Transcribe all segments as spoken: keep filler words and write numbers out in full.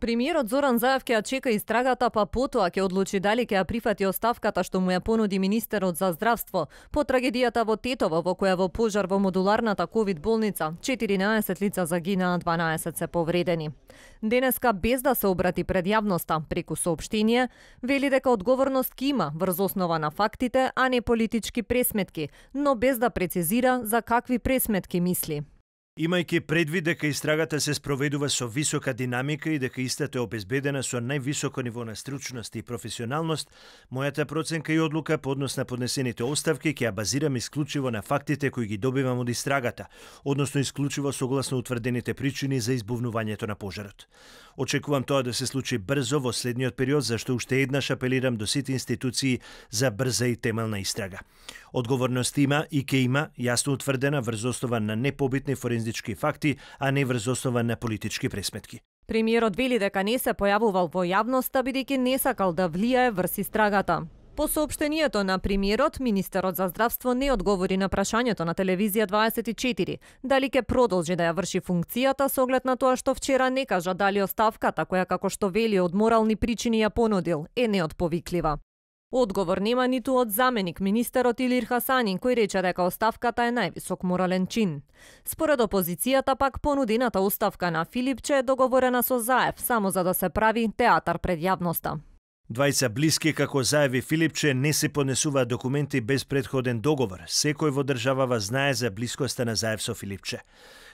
Премиерот Зоран Заев ќе ја чека истрагата, па потоа ќе одлучи дали ќе ја прифати оставката што му ја понуди министерот за здравство по трагедијата во Тетово, во која во пожар во модуларната ковид болница четиринаесет лица загинаа, дванаесет се повредени. Денеска, без да се обрати пред јавноста преку соопштение, вели дека одговорност ки има врз основа на фактите, а не политички пресметки, но без да прецизира за какви пресметки мисли. Имајќи предвид дека истрагата се спроведува со висока динамика и дека истата е обезбедена со највисоко ниво на стручност и професионалност, мојата проценка и одлука по однос на поднесените оставки ќе ја базирам исклучиво на фактите кои ги добивам од истрагата, односно исклучиво согласно утврдените причини за избувнувањето на пожарот. Очекувам тоа да се случи брзо во следниот период, зашто уште еднаш апелирам до сите институции за брза и темелна истрага. Одговорност има и ќе има јасно утврдена врз основа на непобитни форензички факти, а не врз основа на политички пресметки. Премиерот вели дека не се појавувал во јавноста бидејќи не сакал да влијае врз истрагата. По соопштението на премиерот, министерот за здравство не одговори на прашањето на телевизија дваесет и четири, дали ќе продолжи да ја врши функцијата со оглед на тоа што вчера не кажа дали оставката, која како што вели од морални причини ја понудил, е неотповиклива. Одговор нема ниту од заменик министерот Илир Хасанин, кој рече дека оставката е највисок морален чин. Според опозицијата пак, понудената оставка на Филипче е договорена со Заев само за да се прави театар пред јавноста. Двајца блиски како Заев и Филипче не се поднесуваат документи без претходен договор. Секој во државава знае за блискоста на Заев со Филипче.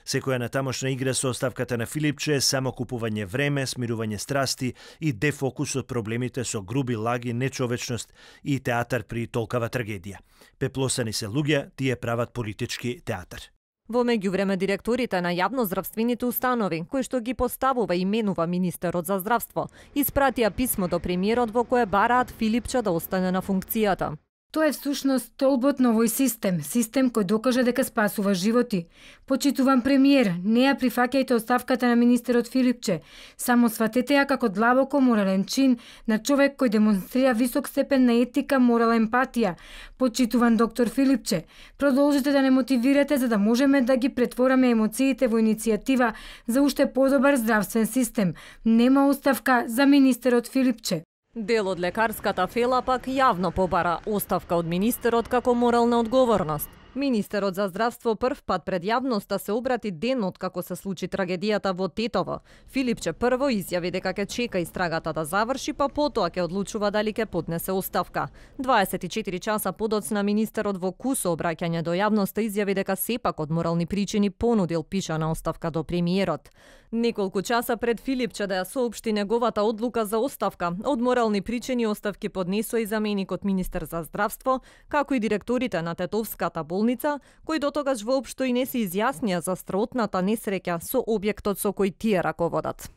Секоја натамошна игра со оставката на Филипче е само купување време, смирување страсти и дефокус од проблемите со груби лаги, нечовечност и театар при толкава трагедија. Пеплосани се луѓе, тие прават политички театар. Во меѓувреме, директорите на јавноздравствените установи, кои што ги поставува и менува министерот за здравство, испратија писмо до премиерот во кое бараат Филипче да остане на функцијата. Тоа е всушност столбот на овој систем, систем кој докажа дека спасува животи. Почитуван премиер, не ја прифаќајте оставката на министерот Филипче, само сватете ја како длабоко морален чин на човек кој демонстрира висок степен на етика, морал, емпатија. Почитуван доктор Филипче, продолжите да не мотивирате за да можеме да ги претвораме емоциите во иницијатива за уште подобар здравствен систем. Нема оставка за министерот Филипче. Дел од лекарската фела пак јавно побара оставка од министерот како морална одговорност. Министерот за здравство прв пат пред јавноста се обрати ден од како се случи трагедијата во Тетово. Филипче прво изјави дека ќе чека истрагата да заврши, па потоа ќе одлучува дали ќе поднесе оставка. дваесет и четири часа подоцна министерот во кусо обраќање до јавноста изјави дека сепак од морални причини понудил пишана оставка до премиерот. Неколку часа пред Филипче да ја соопшти неговата одлука за оставка, од морални причини оставки поднесува и заменикот министер за здравство, како и директорите на Тетовската болница, кои дотогаш воопшто и не се изјаснија за страотната несреќа со објектот со кој тие раководат.